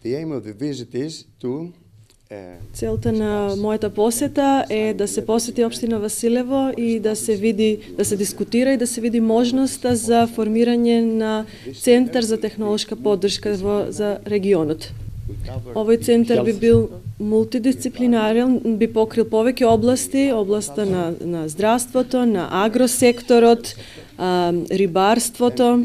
The aim of the visit is to Целта на мојата посета е да се посети општина Василево и да се види, да се дискутира и да се види можноста за формирање на центар за технолошка поддршка за регионот. Овој центар би бил мултидисциплинарен, би покрил повеќе области, областа на здравството, на агросекторот, рибарството,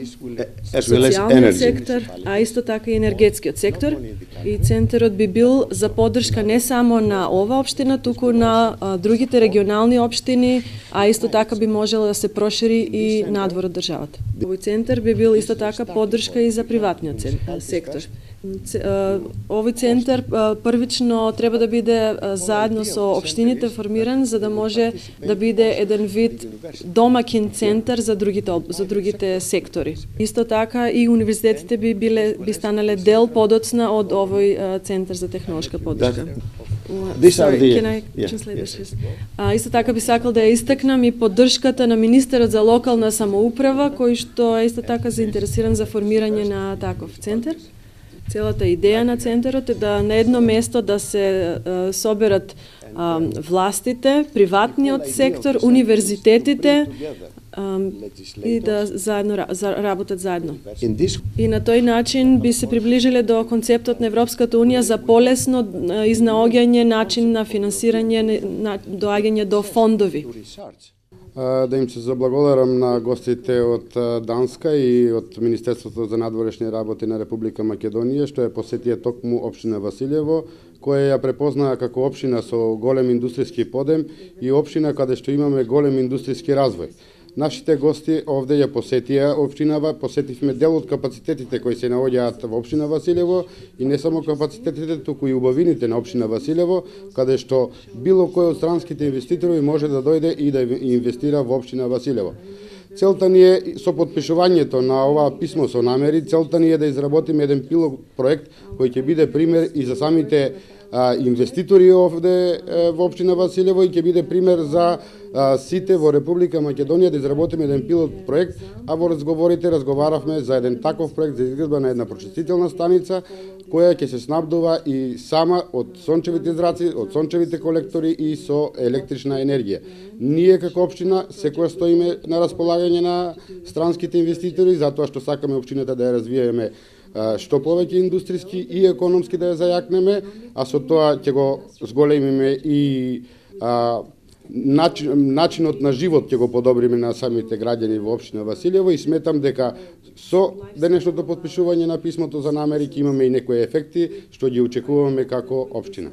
социјалниот сектор, а исто така и енергетскиот сектор. И центарот би бил за поддршка не само на ова општина, туку на другите регионални општини, а исто така би можело да се прошири и надвор од државата. Овој центар би бил исто така поддршка и за приватниот сектор. Овој центар првично треба да биде заедно со општините формиран за да може да биде еден вид домакин центар за другите сектори. Исто така и универзитетите би станале дел подоцна од овој центар за технолошка поддршка. Исто така би сакал да ја истакнам и поддршката на министерот за локална самоуправа, кој што е исто така заинтересиран за формирање на таков центар. Целата идеја на центарот е да на едно место да се соберат властите, приватниот сектор, универзитетите и да заедно работат заедно. И на тој начин би се приближиле до концептот на Европската унија за полесно изнаоѓање начин на финансирање, доаѓање до фондови. Да им се заблагодарам на гостите од Данска и од Министерството за надворешни работи на Република Македонија, што ја посетија токму општина Василево, која ја препознаа како општина со голем индустријски подем и општина каде што имаме голем индустријски развој. Нашите гости овде ја посетија општинава, посетивме дел од капацитетите кои се наоѓаат во општина Василево и не само капацитетите, туку и убавините на општина Василево, каде што било кој од странските инвеститори може да дојде и да инвестира во општина Василево. Целта ни е со подпишувањето на ова писмо со намери, целта ни е да изработиме еден пилот проект кој ќе биде пример и за самите инвеститори овде во општина Василево и ќе биде пример за сите во Република Македонија да изработиме еден пилот проект, а во разговорите разговаравме за еден таков проект за изградба на една прочистителна станица која ќе се снабдува и сама од сончевите израци, од сончевите колектори и со електрична енергија. Ние како општина секоја стоиме на располагање на странските инвеститори затоа што сакаме општината да ја развиеме што повеќе индустријски и економски да ја зајакнеме, а со тоа ќе го зголемиме и начинот на живот ќе го подобриме на самите граѓани во општина Василево и сметам дека со денешното потпишување на писмото за намери ќе имаме и некои ефекти што ги очекуваме како општина.